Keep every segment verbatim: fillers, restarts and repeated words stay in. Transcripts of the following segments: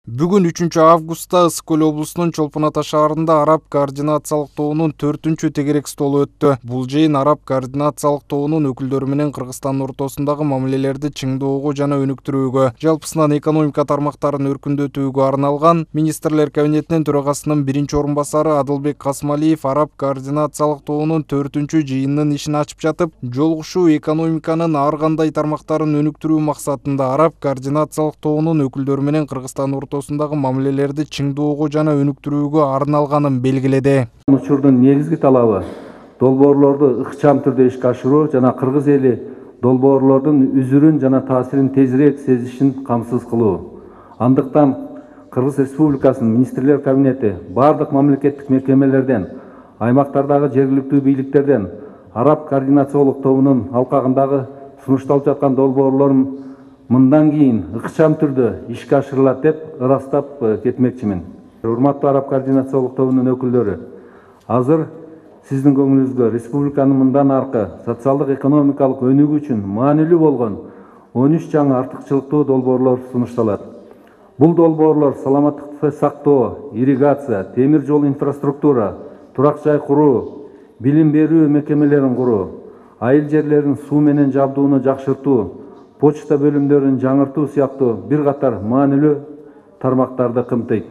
Бүгүн үчүнчү августта Ысык Көл облусунун Чолпон Ата шаарында Араб координациялык тобунун төртүнчү тегерек столу өттү. Бул жыйын Араб координациялык тобунун өкүлдөрү менен Кыргызстандын ортосундагы мамилелерди чыңдоого жана өнүктүрүүгө, жалпысынан экономика тармактарын өркүндөтүүгө арналган. Министрлер кабинетинин төрагасынын биринчи орун басары Адылбек Касмалиев Араб координациялык тобунун төртүнчү жыйынынын ишин ачып жатып, жолугушуу экономиканын ар кандай тармактарын өнүктүрүү максатында Араб координациялык тобунун өкүлдөрү менен Кыргызстандын ортосундагы мамилелерди чыңдоого жана өнүктүрүүгө арналганын белгиледи. Учурдун негизги талабы долбоорлорду ыкчам түрдө ишке ашыруу жана кыргыз эли долбоорлордун үзүрүн жана таасирин тезирээк сезишин камсыз кылуу. Андыктан Кыргыз Республикасынын Министрлер кабинети бардык мамлекеттик мекемелерден, аймактардагы жергиликтүү бийликтерден Араб координациялык тобунун алкагындагы сунушталып жаткан долбоорлорун мындан кийин ыкчам түрдө ишке ашырылат деп ырастап кетмекчимин. Урматтуу Араб координациялык тобунун өкүлдөрү, азыр сиздин көңүлүңүзгө республиканын мындан аркы социалдык экономикалык өнүгүү үчүн маанилүү болгон он үч жаңы артыкчылыктуу долбоорлор сунушталат. Бул долбоорлор саламаттыкты сактоо, ирригация, темир жол инфраструктура, турак жай куруу, билим берүү мекемелерин куруу, айыл жерлерин суу менен жабдууну жакшыртуу, почта бөлүмдөрүн жаңыртуу сыяктуу бир катар маанилүү тармактарды камтыйт.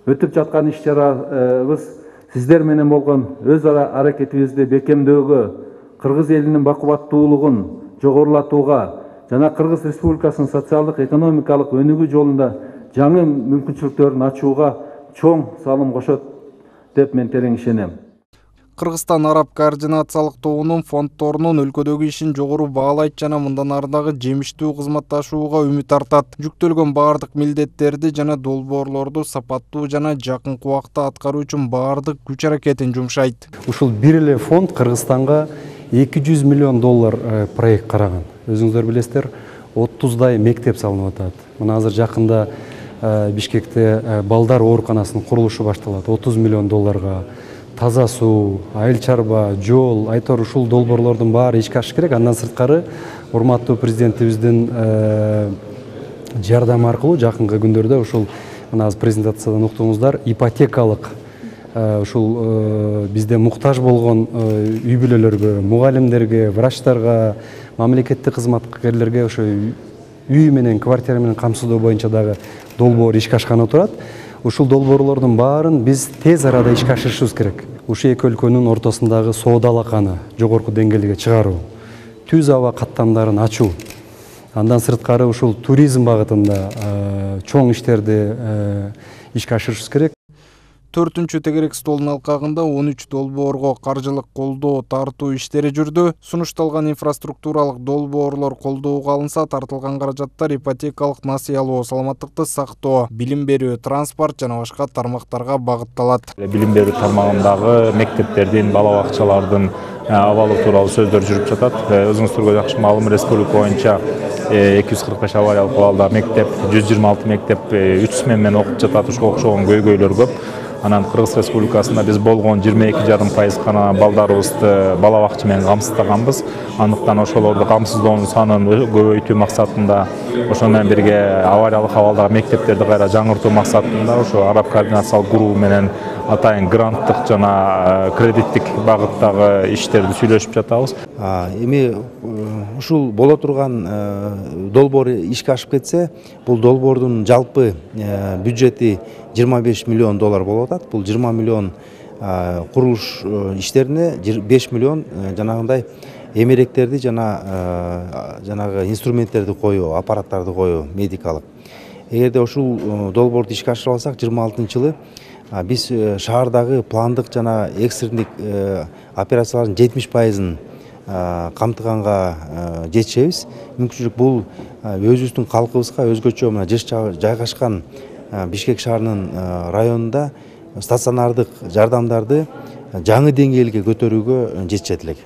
Өтүп жаткан иш-чарабыз сиздер менен болгон өз ара аракетибизди бекемдөөгө, кыргыз элинин бакубаттуулугун жогорулатууга жана Кыргыз Республикасынын социалдык экономикалык өнүгүү жолунда жаңы мүмкүнчүлүктөрүн ачууга чоң салым кошот деп мен терең ишенем. Кыргызстан Араб координациялык тобунун фонддорунун өлкөдөгү ишин жогору баалайт жана мындан ары дагы жемиштүү кызматташууга үмүт артат. Жүктөлгөн бардык милдеттерди жана долбоорлорду сапаттуу жана жакынкы убакта аткаруу үчүн бардык күч аракетин жумшайт. Ушул бир эле фонд Кыргызстанга эки жүз миллион доллар проект караган. Өзүңүздөр билесиздер, отуздай мектеп салынып атат. Мына азыр жакында Бишкекте балдар ооруканасынын курулушу башталат. отуз миллион долларга. Таза суу, айыл чарба, жол, айтор ушул долбоорлордун баары ишке ашыш керек. Андан сырткары урматтуу президентибиздин жардамы аркылуу жакынкы күндөрдө ушул мына азыр презентациядан уктуңуздар, ипотекалык ушул бизде муктаж болгон үй бүлөлөргө, мугалимдерге, врачтарга, мамлекеттик кызматкерлерге ошо үй менен, квартира менен камсыздоо боюнча дагы долбоор ишке ашканы турат. Ушул долбоорлордун баарын биз тез арада ишке ашырышыбыз керек. Ушул эки өлкөнүн ортосундагы соода алаканы жогорку деңгээлге чыгаруу, түз аба каттамдарын ачуу, андан сырткары ушул туризм багытында чоң иштерди ишке ашырышыбыз керек. Төртүнчү тегерек столдун алкагында он үч долбоорго каржылык колдоо тартуу иштери жүрдү. Сунушталган инфраструктуралык долбоорлор колдоого алынса, тартылган каражаттар ипотекалык насыя алуу, саламаттыкты сактоо, билим берүү, транспорт жана башка тармактарга багытталат. Билим берүү тармагындагы мектептердин, бала бакчалардын абалы тууралуу сөздөр жүрүп жатат. Өзүңүздөргө жакшы маалым, республика боюнча эки жүз кырк беш авариялык абалда мектеп, жүз жыйырма алты мектеп үч смен менен окуп жатат. Ушуга окшогон көйгөйлөр көп. Анан Кыргыз Республикасында биз болгон жыйырма эки жарым пайыз гана балдарыбызды бала бакча менен камсыздаганбыз. Андыктан ошолорду камсыздоонун санын көбөйтүү максатында, ошону менен бирге авариялык абалдагы мектептерди кайра жаңыртуу максатында ошо Араб координациялык группу менен атайын гранттык жана кредиттик багыттагы иштерди сүйлөшүп жатабыз. Эми ушул боло турган долбоор ишке ашып кетсе, бул долбоордун жалпы бюджети жыйырма беш миллион доллар болуп атат. Бул жыйырма миллион курулуш иштерине, беш миллион жанагындай эмеректерди жана жанагы инструменттерди коюу, аппараттарды коюу, медикалык. Эгерде ушул долбоорду ишке ашырып алсак, жыйырма алтынчы жылы биз шаардагы пландык жана экстрендик операциялардын жетимиш пайызын камтыганга жетишебиз. Мүмкүнчүлүк бул өзүбүздүн калкыбызга өзгөчө мына жыш жайгашкан Бишкек шаарынын районунда стационардык жардамдарды жаңы деңгээлге көтөрүүгө жетишет элек.